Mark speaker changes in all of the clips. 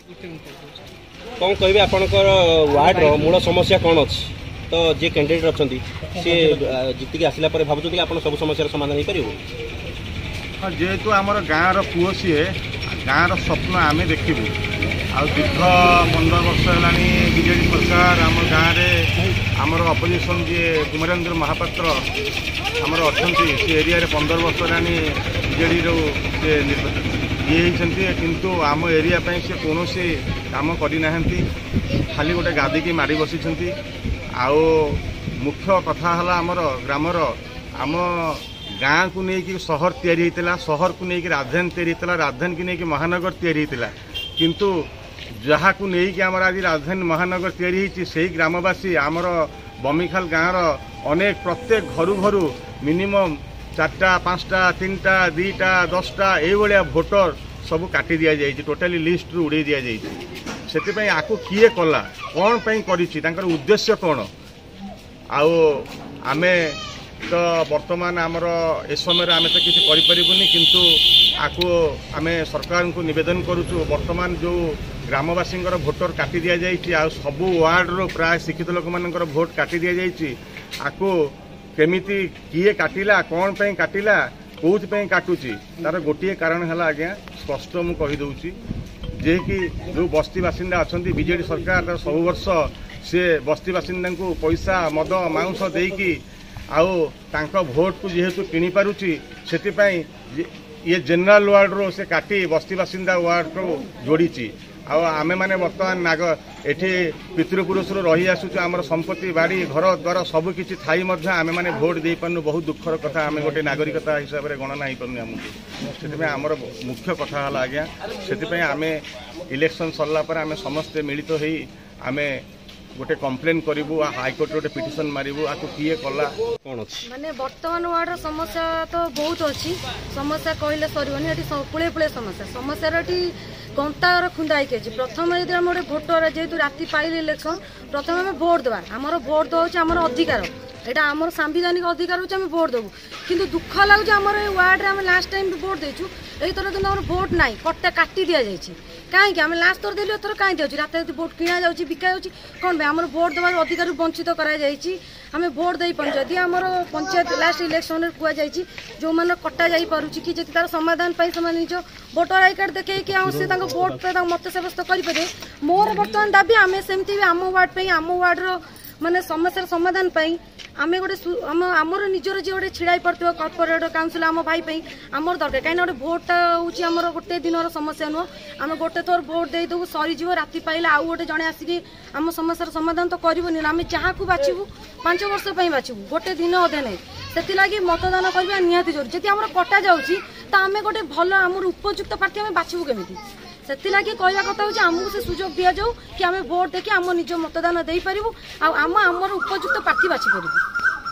Speaker 1: କ'ଣ କହିବେ, ଆପଣଙ୍କର ୱାର୍ଡର ମୂଳ ସମସ୍ୟା କ'ଣ ଅଛି? ତ ଯିଏ କ୍ୟାଣ୍ଡିଡେଟ୍ ଅଛନ୍ତି, ସିଏ ଜିତିକି ଆସିଲା ପରେ ଭାବୁଛନ୍ତି କି ଆପଣ ସବୁ ସମସ୍ୟାର ସମାଧାନ ହେଇପାରିବ?
Speaker 2: ହଁ, ଯେହେତୁ ଆମର ଗାଁର ପୁଅ ସିଏ, ଗାଁର ସ୍ୱପ୍ନ ଆମେ ଦେଖିବୁ। ଆଉ ଦୀର୍ଘ 15 ବର୍ଷ ହେଲାଣି ବିଜେଡ଼ି ସରକାର ଆମ ଗାଁରେ, ଆମର ଅପୋଜିସନ୍ ଯିଏ କୁମାରେନ୍ଦ୍ର ମହାପାତ୍ର ଆମର ଅଛନ୍ତି, ସେ ଏରିଆରେ 15 ବର୍ଷ ହେଲାଣି ବିଜେଡ଼ିରୁ ସେ ଇଏ ହେଇଛନ୍ତି, କିନ୍ତୁ ଆମ ଏରିଆ ପାଇଁ ସେ କୌଣସି କାମ କରିନାହାନ୍ତି, ଖାଲି ଗୋଟେ ଗାଦିକି ମାଡ଼ି ବସିଛନ୍ତି। ଆଉ ମୁଖ୍ୟ କଥା ହେଲା ଆମର ଗ୍ରାମର, ଆମ ଗାଁକୁ ନେଇକି ସହର ତିଆରି ହେଇଥିଲା, ସହରକୁ ନେଇକି ରାଜଧାନୀ ତିଆରି ହେଇଥିଲା, ରାଜଧାନୀକି ନେଇକି ମହାନଗର ତିଆରି ହେଇଥିଲା। କିନ୍ତୁ ଯାହାକୁ ନେଇକି ଆମର ଆଜି ରାଜଧାନୀ ମହାନଗର ତିଆରି ହେଇଛି, ସେଇ ଗ୍ରାମବାସୀ ଆମର ବମିଖାଲ ଗାଁର ଅନେକ ପ୍ରତ୍ୟେକ ଘରୁ ଘରୁ ମିନିମମ୍ 4ଟା, 5ଟା, 3ଟା, 2ଟା, 10ଟା ଏଇଭଳିଆ ଭୋଟର ସବୁ କାଟି ଦିଆଯାଇଛି, ଟୋଟାଲି ଲିଷ୍ଟରୁ ଉଡ଼େଇ ଦିଆଯାଇଛି। ସେଥିପାଇଁ ଆକୁ କିଏ କଲା, କ'ଣ ପାଇଁ କରିଛି, ତାଙ୍କର ଉଦ୍ଦେଶ୍ୟ କ'ଣ? ଆଉ ଆମେ ତ ବର୍ତ୍ତମାନ ଆମର ଏ ସମୟରେ ଆମେ ତ କିଛି କରିପାରିବୁନି, କିନ୍ତୁ ଆକୁ ଆମେ ସରକାରଙ୍କୁ ନିବେଦନ କରୁଛୁ, ବର୍ତ୍ତମାନ ଯେଉଁ ଗ୍ରାମବାସୀଙ୍କର ଭୋଟର କାଟି ଦିଆଯାଇଛି ଆଉ ସବୁ ୱାର୍ଡ଼ରୁ ପ୍ରାୟ ଶିକ୍ଷିତ ଲୋକମାନଙ୍କର ଭୋଟ କାଟି ଦିଆଯାଇଛି, ଆକୁ କେମିତି କିଏ କାଟିଲା, କ'ଣ ପାଇଁ କାଟିଲା, କେଉଁଥିପାଇଁ କାଟୁଛି? ତାର ଗୋଟିଏ କାରଣ ହେଲା ଆଜ୍ଞା, ସ୍ପଷ୍ଟ ମୁଁ କହିଦେଉଛି ଯେ କି ଯେଉଁ ବସ୍ତି ବାସିନ୍ଦା ଅଛନ୍ତି, ବିଜେଡ଼ି ସରକାର ତାର ସବୁ ବର୍ଷ ସେ ବସ୍ତି ବାସିନ୍ଦାଙ୍କୁ ପଇସା, ମଦ, ମାଉଁସ ଦେଇକି ଆଉ ତାଙ୍କ ଭୋଟକୁ ଯେହେତୁ କିଣିପାରୁଛି, ସେଥିପାଇଁ ଇଏ ଜେନେରାଲ ୱାର୍ଡ଼ରୁ ସେ କାଟି ବସ୍ତି ବାସିନ୍ଦା ୱାର୍ଡ଼କୁ ଯୋଡ଼ିଛି। ଆଉ ଆମେମାନେ ବର୍ତ୍ତମାନ ନାଗ ଏଠି ପିତୃପୁରୁଷରୁ ରହି ଆସୁଛୁ, ଆମର ସମ୍ପତ୍ତି, ବାଡ଼ି, ଘର ଦ୍ୱାର ସବୁ କିଛି ଥାଇ ମଧ୍ୟ ଆମେମାନେ ଭୋଟ ଦେଇପାରୁନୁ। ବହୁତ ଦୁଃଖର କଥା, ଆମେ ଗୋଟେ ନାଗରିକତା ହିସାବରେ ଗଣନା ହେଇପାରୁନି ଆମକୁ। ସେଥିପାଇଁ ଆମର ମୁଖ୍ୟ କଥା ହେଲା ଆଜ୍ଞା, ସେଥିପାଇଁ ଆମେ ଇଲେକ୍ସନ୍ ସରିଲା ପରେ ଆମେ ସମସ୍ତେ ମିଳିତ ହେଇ ଆମେ ଗୋଟେ କମ୍ପ୍ଲେନ୍ କରିବୁ, ହାଇକୋର୍ଟରେ ଗୋଟେ ପିଟିସନ୍ ମାରିବୁ, ଆକୁ କିଏ କଲା।
Speaker 1: କ'ଣ ଅଛି?
Speaker 3: ମାନେ ବର୍ତ୍ତମାନ ୱାର୍ଡ଼ର ସମସ୍ୟା ତ ବହୁତ ଅଛି, ସମସ୍ୟା କହିଲେ ସରିବନି। ଏଠି ପୁଳେ ପୁଳେ ସମସ୍ୟା, ସମସ୍ୟାର ଏଠି ଗନ୍ତାଘର ଖୁନ୍ଦା ହେଇକି ଅଛି। ପ୍ରଥମେ ଯଦି ଆମେ ଗୋଟେ ଭୋଟର, ଯେହେତୁ ରାତି ପାଇଲେ ଇଲେକ୍ସନ୍, ପ୍ରଥମେ ଆମେ ଭୋଟ ଦେବା, ଆମର ଭୋଟ ଦେବା ହେଉଛି ଆମର ଅଧିକାର, ଏଇଟା ଆମର ସାମ୍ବିଧାନିକ ଅଧିକାର ହେଉଛି, ଆମେ ଭୋଟ ଦେବୁ। କିନ୍ତୁ ଦୁଃଖ ଲାଗୁଛି, ଆମର ଏଇ ୱାର୍ଡ଼ରେ ଆମେ ଲାଷ୍ଟ ଟାଇମ୍ ବି ଭୋଟ ଦେଇଛୁ, ଏଇଥର କିନ୍ତୁ ଆମର ଭୋଟ ନାହିଁ, କଟା କାଟି ଦିଆଯାଇଛି। କାହିଁକି ଆମେ ଲାଷ୍ଟ ଥର ଦେଲୁ, ଏଥର କାହିଁ ଦିଆଯାଉଛି? ରାତି ରାତି ଭୋଟ କିଣା ଯାଉଛି, ବିକା ଯାଉଛି, କ'ଣ ପାଇଁ? ଆମର ଭୋଟ ଦେବାର ଅଧିକାରରୁ ବଞ୍ଚିତ କରାଯାଇଛି, ଆମେ ଭୋଟ ଦେଇପାରୁନୁ। ଯଦି ଆମର ପଞ୍ଚାୟତ ଲାଷ୍ଟ ଇଲେକ୍ସନରେ କୁହାଯାଇଛି, ଯେଉଁମାନଙ୍କର କଟା ଯାଇପାରୁଛି କି ଯଦି ତାର ସମାଧାନ ପାଇଁ ସେମାନେ ନିଜ ଭୋଟର I card ଦେଖେଇକି ଆଉ ସେ ତାଙ୍କ ଭୋଟ ତାଙ୍କ ମତ ସାବ୍ୟସ୍ତ କରିପାରିବେ। ମୋର ବର୍ତ୍ତମାନ ଦାବି, ଆମେ ସେମିତି ବି ଆମ ୱାର୍ଡ଼ ପାଇଁ, ଆମ ୱାର୍ଡ଼ର ମାନେ ସମସ୍ୟାର ସମାଧାନ ପାଇଁ ଆମେ ଗୋଟେ ଆମ ଆମର ନିଜର ଯିଏ ଗୋଟେ ଛିଡ଼ା ହେଇପାରୁଥିବ କର୍ପୋରେଟ, କାଉନସିଲ, ଆମ ଭାଇ ପାଇଁ ଆମର ଦରକାର। କାହିଁକିନା ଗୋଟେ ଭୋଟଟା ହେଉଛି ଆମର ଗୋଟେ ଦିନର ସମସ୍ୟା ନୁହଁ। ଆମେ ଗୋଟେ ଥର ଭୋଟ ଦେଇଦେବୁ, ସରିଯିବ, ରାତି ପାଇଲେ ଆଉ ଗୋଟେ ଜଣେ ଆସିକି ଆମ ସମସ୍ୟାର ସମାଧାନ ତ କରିବନି ନା। ଆମେ ଯାହାକୁ ବାଛିବୁ 5 ବର୍ଷ ପାଇଁ ବାଛିବୁ, ଗୋଟେ ଦିନ ଅଧେ ନାହିଁ। ସେଥିଲାଗି ମତଦାନ କରିବା ନିହାତି ଜରୁରୀ। ଯଦି ଆମର କଟା ଯାଉଛି, ତ ଆମେ ଗୋଟେ ଭଲ ଆମର ଉପଯୁକ୍ତ ପ୍ରାର୍ଥୀ ଆମେ ବାଛିବୁ କେମିତି? ସେଥିଲାଗି କହିବା କଥା ହେଉଛି, ଆମକୁ ସେ ସୁଯୋଗ ଦିଆଯାଉ କି ଆମେ ଭୋଟ ଦେଇକି ଆମ ନିଜ ମତଦାନ ଦେଇପାରିବୁ ଆଉ ଆମ ଆମର ଉପଯୁକ୍ତ ପ୍ରାର୍ଥୀ ବାଛିପାରିବୁ,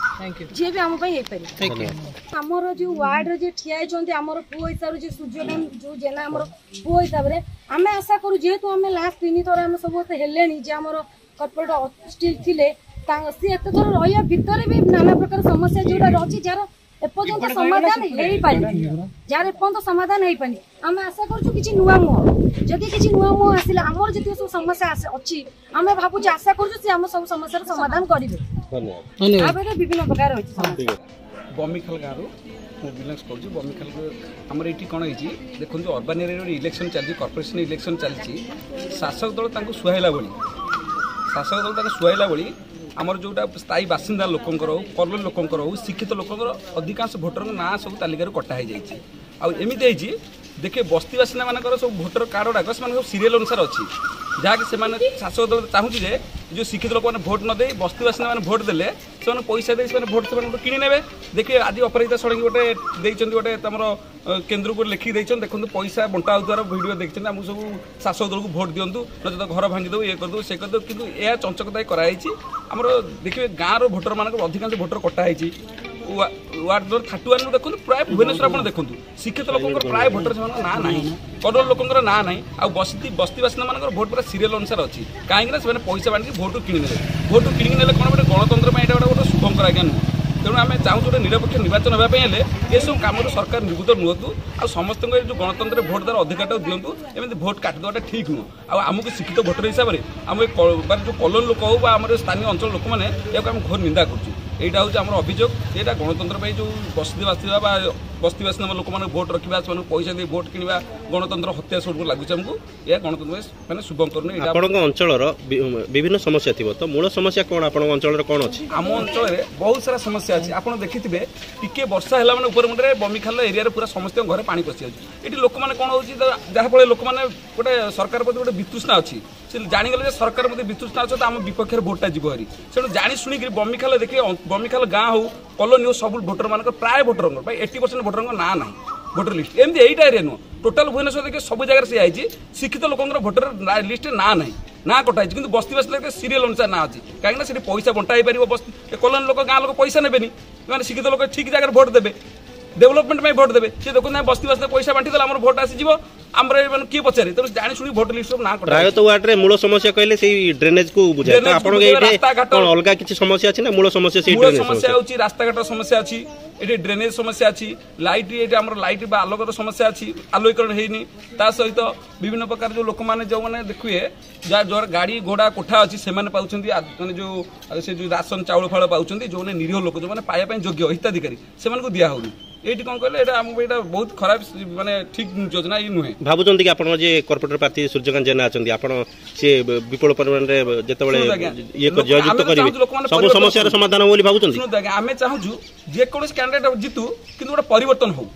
Speaker 3: ଯିଏ ବି ଆମ ପାଇଁ ହେଇପାରିବ। ଆମର ଯୋଉ ୱାର୍ଡରେ ଯିଏ ଠିଆ ହେଇଛନ୍ତି, ଆମର ପୁଅ ହିସାବରେ ଯିଏ ସୂର୍ଯ୍ୟକାନ୍ତ ଯୋଉ ଜେନା, ଆମର ପୁଅ ହିସାବରେ ଆମେ ଆଶା କରୁ, ଯେହେତୁ ଆମେ ଲାଷ୍ଟ 3 ଥର ଆମେ ସମସ୍ତେ ହେଲେଣି ଯେ ଆମର କର୍ପୋରେଟ ଷ୍ଟିଲ୍ ଥିଲେ, ସିଏ ଏତେ ଥର ରହିବା ଭିତରେ ବି ନାନା ପ୍ରକାର ସମସ୍ୟା ଯୋଉଟା ଅଛି, ଯାହାର ଏପର୍ଯ୍ୟନ୍ତ ସମାଧାନ ହେଇପାରିନି, ଯାହାର ଏପର୍ଯ୍ୟନ୍ତ ସମାଧାନ ହେଇପାରିନି, ଆମେ ଆଶା କରୁଛୁ କିଛି ନୂଆ ମୁହଁ, ଯଦି କିଛି ନୂଆ ମୁହଁ ଆସିଲା, ଆମର ଯେତିକି ସବୁ ସମସ୍ୟା ଅଛି, ଆମେ ଭାବୁଛୁ, ଆଶା କରୁଛୁ ସେ ଆମ ସବୁ ସମସ୍ୟାର ସମାଧାନ କରିବେ। ତାପରେ ବିଭିନ୍ନ ପ୍ରକାର ଅଛି ସମସ୍ୟା।
Speaker 4: ବମିଖାଲ ଗାଁରୁ ମୁଁ ବିଲଙ୍ଗସ୍ କରୁଛି। ବମିଖାଲ ଆମର ଏଇଠି କ'ଣ ହେଇଛି ଦେଖନ୍ତୁ, ଅର୍ବାନ୍ ଏରିଆରେ ଗୋଟେ ଇଲେକ୍ସନ୍ ଚାଲିଛି, କର୍ପୋରେସନ୍ ଇଲେକ୍ସନ୍ ଚାଲିଛି। ଶାସକ ଦଳ ତାଙ୍କୁ ସୁହାଇଲା ଭଳି, ଶାସକ ଦଳ ତାଙ୍କୁ ସୁହାଇଲା ଭଳି ଆମର ଯେଉଁଟା ସ୍ଥାୟୀ ବାସିନ୍ଦା ଲୋକଙ୍କର ହଉ, କଲୋନୀ ଲୋକଙ୍କର ହଉ, ଶିକ୍ଷିତ ଲୋକଙ୍କର ଅଧିକାଂଶ ଭୋଟରଙ୍କ ନାଁ ସବୁ ତାଲିକାରୁ କଟା ହେଇଯାଇଛି। ଆଉ ଏମିତି ହେଇଛି ଦେଖିବେ, ବସ୍ତି ବାସିନ୍ଦାମାନଙ୍କର ସବୁ ଭୋଟର କାର୍ଡ଼ ଗୁଡ଼ାକ ସେମାନେ ସବୁ ସିରିଏଲ୍ ଅନୁସାରେ ଅଛି, ଯାହାକି ସେମାନେ ଶାସକ ଦଳ ଚାହୁଁଛି ଯେ ଯେଉଁ ଶିକ୍ଷିତ ଲୋକମାନେ ଭୋଟ ନ ଦେଇ ବସ୍ତି ବାସିନ୍ଦାମାନେ ଭୋଟ ଦେଲେ ସେମାନେ ପଇସା ଦେଇ ସେମାନେ ଭୋଟ ସେମାନଙ୍କଠୁ କିଣି ନେବେ। ଦେଖିବେ, ଆଜି ଅପରାଜିତା ଷଡ଼ଙ୍ଗୀ ଗୋଟେ ଦେଇଛନ୍ତି, ଗୋଟେ ତମର କେନ୍ଦ୍ରକୁ ଲେଖିକି ଦେଇଛନ୍ତି, ଦେଖନ୍ତୁ ପଇସା ବଣ୍ଟା ହେଉଥିବାର ଭିଡ଼ିଓ ଦେଖିଛନ୍ତି, ଆମକୁ ସବୁ ଶାସକ ଦଳକୁ ଭୋଟ ଦିଅନ୍ତୁ, ନଚେତ ଘର ଭାଙ୍ଗିଦେବୁ, ଇଏ କରିଦେବୁ, ସେ କରିଦେବୁ। କିନ୍ତୁ ଏହା ଚଞ୍ଚକତା କରାଯାଇଛି। ଆମର ଦେଖିବେ ଗାଁର ଭୋଟରମାନଙ୍କର ଅଧିକାଂଶ ଭୋଟର କଟା ହେଇଛି। ୱାର୍ଡ ନମ୍ବର 31ରୁ ଦେଖନ୍ତୁ, ପ୍ରାୟ ଭୁବନେଶ୍ୱର ଆପଣ ଦେଖନ୍ତୁ, ଶିକ୍ଷିତ ଲୋକଙ୍କର ପ୍ରାୟ ଭୋଟର ସେମାନଙ୍କ ନାଁ ନାହିଁ, କଡ଼ର ଲୋକଙ୍କର ନାଁ ନାହିଁ। ଆଉ ବସ୍ତି ବାସିନ୍ଦାମାନଙ୍କର ଭୋଟ ପୁରା ସିରିଏଲ୍ ଅନୁସାରେ ଅଛି। କାହିଁକିନା ସେମାନେ ପଇସା ବାଣ୍ଟିକି ଭୋଟ କିଣି ନେଲେ। ଭୋଟ କିଣିକି ନେଲେ କ'ଣ, ଗୋଟେ ଗଣତନ୍ତ୍ର ପାଇଁ ଏଇଟା ଗୋଟେ ଶୁଭଙ୍କର ଆଜ୍ଞା ନୁହଁ। ତେଣୁ ଆମେ ଚାହୁଁଛୁ ଗୋଟେ ନିରପେକ୍ଷ ନିର୍ବାଚନ ହେବା ପାଇଁ ହେଲେ ଏସବୁ କାମରୁ ସରକାର ନିବୃତ୍ତ ନୁହନ୍ତୁ, ଆଉ ସମସ୍ତଙ୍କ ଏ ଯେଉଁ ଗଣତନ୍ତ୍ରରେ ଭୋଟ ଦେବାର ଅଧିକାରଟାକୁ ଦିଅନ୍ତୁ। ଏମିତି ଭୋଟ କାଟିଦେବାଟା ଠିକ୍ ନୁହଁ। ଆଉ ଆମକୁ ଶିକ୍ଷିତ ଭୋଟର ହିସାବରେ ଆମ ଏ ମାନେ ଯେଉଁ କଲୋନୀ ଲୋକ ହଉ ବା ଆମର ସ୍ଥାନୀୟ ଅଞ୍ଚଳ ଲୋକମାନେ, ଏହାକୁ ଆମେ ଘୋର ନିନ୍ଦା କରୁଛୁ। ଏଇଟା ହେଉଛି ଆମର ଅଭିଯୋଗ। ଏଇଟା ଗଣତନ୍ତ୍ର ପାଇଁ ଯେଉଁ ବସ୍ତି ବାସିନ୍ଦା ବା ବସ୍ତି ବାସିନ୍ଦା ଲୋକମାନଙ୍କୁ ଭୋଟ ରଖିବା, ସେମାନଙ୍କୁ ପଇସା ଦେଇ ଭୋଟ କିଣିବା, ଗଣତନ୍ତ୍ର ହତ୍ୟା ସ୍ୱରୂପ ଲାଗୁଛି ଆମକୁ। ଏହା ଗଣତନ୍ତ୍ର ମାନେ ଶୁଭଙ୍କର ନୁହେଁ। ଏଇଟା
Speaker 1: ଆପଣଙ୍କ ଅଞ୍ଚଳର ବିଭିନ୍ନ ସମସ୍ୟା ଥିବ, ତ ମୂଳ ସମସ୍ୟା କ'ଣ ଆପଣଙ୍କ ଅଞ୍ଚଳରେ କ'ଣ ଅଛି?
Speaker 4: ଆମ ଅଞ୍ଚଳରେ ବହୁତ ସାରା ସମସ୍ୟା ଅଛି। ଆପଣ ଦେଖିଥିବେ, ଟିକେ ବର୍ଷା ହେଲା ମାନେ ଉପରେ ମୁଣ୍ଡରେ ବମିଖାଲ ଏରିଆରେ ପୁରା ସମସ୍ତଙ୍କ ଘରେ ପାଣି ପଶିଯାଉଛି। ଏଠି ଲୋକମାନେ କ'ଣ ହେଉଛି, ଯାହାଫଳରେ ଲୋକମାନେ ଗୋଟେ ସରକାର ପ୍ରତି ଗୋଟେ ବିତୃଷ୍ଣା ଅଛି। ସେ ଜାଣିଗଲେ ଯେ ସରକାର ପ୍ରତି ବିତୃଷ୍ଣା ଅଛି, ତ ଆମ ବିପକ୍ଷରେ ଭୋଟଟା ଯିବ ଭାରି। ତେଣୁ ଜାଣି ଶୁଣିକିରି ବମିଖାଲ ଦେଖିବେ, ବମିଖାଲ ଗାଁ ହଉ କଲୋନୀ ହଉ, ସବୁ ଭୋଟରମାନଙ୍କର, ପ୍ରାୟ ଭୋଟରଙ୍କର, ପ୍ରାୟ 80% ଭୋଟରଙ୍କ ନାଁ ନାହିଁ ଭୋଟର ଲିଷ୍ଟ। ଏମିତି ଏଇଟା ଏରିଆ ନୁହଁ, ଟୋଟାଲ ଭୁବନେଶ୍ୱର ଦେଖିବେ ସବୁ ଜାଗାରେ ସେଇଆ ହେଇଛି। ଶିକ୍ଷିତ ଲୋକଙ୍କର ଭୋଟର ଲିଷ୍ଟରେ ନାଁ ନାହିଁ, ନାଁ କଟା ହେଇଛି। କିନ୍ତୁ ବସ୍ତି ବାସିନ୍ଦା ସିରିଏଲ ଅନୁସାରେ ନାଁ ଅଛି, କାହିଁକିନା ସେଠି ପଇସା ବଣ୍ଟା ହେଇପାରିବ। ବସ୍ତି କଲୋନୀ ଲୋକ, ଗାଁ ଲୋକ ପଇସା ନେବେନି, ମାନେ ଶିକ୍ଷିତ ଲୋକ ଠିକ ଜାଗାରେ ଭୋଟ ଦେବେ, ଡେଭଲପମେଣ୍ଟ ପାଇଁ ଭୋଟ ଦେବେ। ସେ ଦେଖନ୍ତୁ, ଆମେ ବସ୍ତି ବାସିନ୍ଦା ପଇସା ବାଣ୍ଟି ଦେଲେ ଆମର ଭୋଟ ଆସିଯିବ, ଆମର ମାନେ କିଏ ପଚାରେ? ତେଣୁ ଜାଣି ଶୁଣି ଭୋଟ ଲିଷ୍ଟ ସବୁ ନାଁ କଟା।
Speaker 1: ପ୍ରାୟତଃ ୱାର୍ଡରେ ମୂଳ ସମସ୍ୟା କହିଲେ ସେଇ ଡ୍ରେନେଜ କୁ ବୁଝାଏ, ତ ଆପଣଙ୍କ ଏଇଠି କଣ ଅଲଗା କିଛି ସମସ୍ୟା ଅଛି ନା ମୂଳ ସମସ୍ୟା ସେଇ
Speaker 4: ମୂଳ ସମସ୍ୟା ହେଉଛି ରାସ୍ତାଘାଟ ସମସ୍ୟା ଅଛି, ଏଠି ଡ୍ରେନେଜ ସମସ୍ୟା ଅଛି, ଲାଇଟ୍, ଏଠି ଆମର ଲାଇଟ୍ ବା ଆଲୋକର ସମସ୍ୟା ଅଛି, ଆଲୋକୀକରଣ ହେଇନି। ତା ସହିତ ବିଭିନ୍ନ ପ୍ରକାର ଯେଉଁ ଲୋକମାନେ, ଯେଉଁମାନେ ଦେଖିବେ, ଯାହା ଯାହାର ଗାଡ଼ି ଘୋଡ଼ା କୋଠା ଅଛି ସେମାନେ ପାଉଛନ୍ତି, ମାନେ ଯେଉଁ ସେ ଯେଉଁ ରାସନ ଚାଉଳ ଫାଉଳ ପାଉଛନ୍ତି। ଯେଉଁମାନେ ନିରୀହ ଲୋକ, ଯେଉଁମାନେ ପାଇବା ପାଇଁ ଯୋଗ୍ୟ ହିତାଧିକାରୀ, ସେମାନଙ୍କୁ ଦିଆହେଉନି। ଏଇଠି କ'ଣ କହିଲେ, ଏଇଟା ଆମକୁ ଏଇଟା ବହୁତ ଖରାପ, ମାନେ ଠିକ ଯୋଜନା ଇଏ ନୁହେଁ।
Speaker 1: ଭାବୁଛନ୍ତି କି ଆପଣଙ୍କ ଯିଏ କର୍ପୋରେଟର ପ୍ରାର୍ଥୀ ସୂର୍ଯ୍ୟକାନ୍ତ ଜେନା ଅଛନ୍ତି, ଆପଣ ସିଏ ବିପୁଳ ପରିମାଣରେ ଯେତେବେଳେ ଇଏ ଜୟଯୁକ୍ତ କରିବେ ସବୁ ସମସ୍ୟାର ସମାଧାନ ବୋଲି ଭାବୁଛନ୍ତି?
Speaker 4: ଶୁଣନ୍ତୁ ଆଜ୍ଞା, ଆମେ ଚାହୁଁଛୁ ଯେକୌଣସି କ୍ୟାଣ୍ଡିଡେଟ୍ ଜିତୁ, କିନ୍ତୁ ଗୋଟେ ପରିବର୍ତ୍ତନ ହଉ।